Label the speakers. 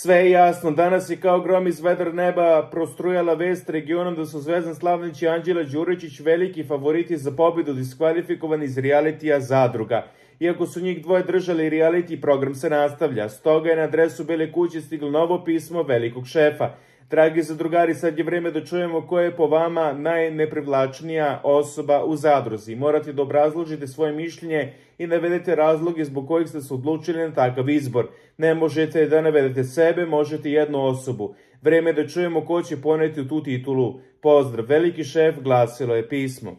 Speaker 1: Sve je jasno, danas je kao grom iz vedra neba prostrujala vest regionom da su Zvezdan Slavnić i Anđela Đuričić veliki favoriti za pobedu diskvalifikovani iz realitija Zadruga. Iako su njih dvoje držali reality, program se nastavlja. Stoga je na adresu Bele kuće stiglo novo pismo velikog šefa. Dragi zadrugari, sad je vreme da čujemo ko je po vama najneprivlačnija osoba u Zadruzi. Morate da obrazložite svoje mišljenje i navedete razloge zbog kojih ste se odlučili na takav izbor. Ne možete da navedete sebe, možete jednu osobu. Vreme je da čujemo ko će poneti u tu titulu. Pozdrav, veliki šef, glasilo je pismo.